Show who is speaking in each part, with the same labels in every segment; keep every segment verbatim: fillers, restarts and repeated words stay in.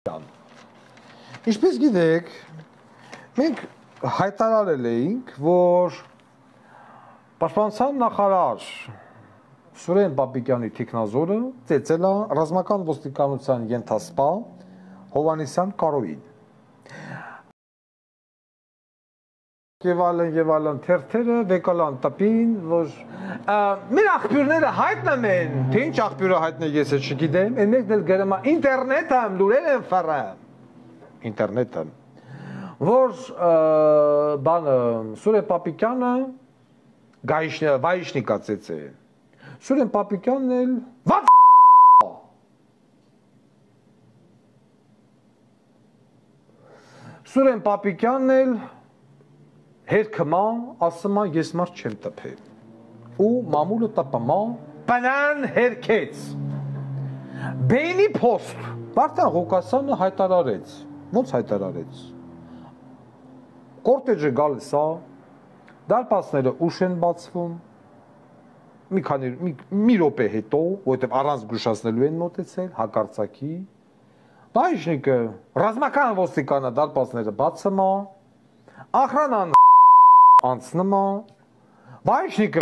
Speaker 1: Ինչպես գիտեք, մենք հայտարարել էինք, որ Պաշտպանության նախարար Սուրեն Պապիկյանի թիկնազորը ծեծել է ռազմական ոստիկանության ենթասպա Հովհաննիսյան Կարոյին։ Եվ այլն եւ այլն թերթերը վեկալան տպին, որ մեր աղբյուրները հայտնում են, թե ինչ աղբյուրը հայտնել ես չգիտեմ, այն մեկն էլ գրում է ինտերնետը լուրեր են ֆարեմ, ինտերնետը, որ բանը Սուրեն Պապիկյանը վայիշնիկա ծեծե, Սուրեն Պապիկյանն էլ վատ Սուրեն Պապիկյանն էլ հերքմա, ասմա ես մարդ չեմ տպել ու մամուլը տպմա բնան հերքեց բեյնի պոստ Վարդան Ղուկասյանը հայտարարեց ոնց հայտարարեց կորտեջը գալիս է դարպասները ուշ են բացվում մի քանի մի րոպե հետո որովհետև առանց զգուշացնելու են մոտեցել հակարծակի Բայիշնիկը ռազմական ոստիկանը դարպասները բացում է ախրանան անցնում է, բայիշնիկը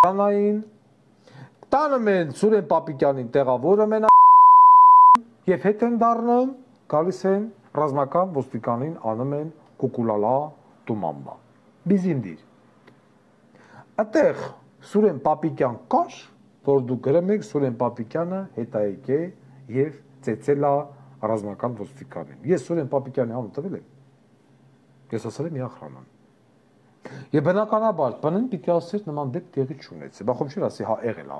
Speaker 1: անային, տանում են Սուրեն Պապիկյանին տեղավորում են և հետ են դառնում, գալիս են ռազմական ոստիկանին անում են կուկուլալա տումամբա, բիզիմդիր։ Այդտեղ Սուրեն Պապիկյան կար, որ դու գրում եք Սուրեն Պապիկյանը հետայեկե և ծեծել է ռազմական ոստիկանին։ Ես Սուրեն Պապիկյանի անունը տվել եմ, ես ասել եմ ախրանան։ Եվ բնականաբար, բնին պիտի ասեր նման դեպք տեղի չունեցել, բախում չէր ասի հա եղել է։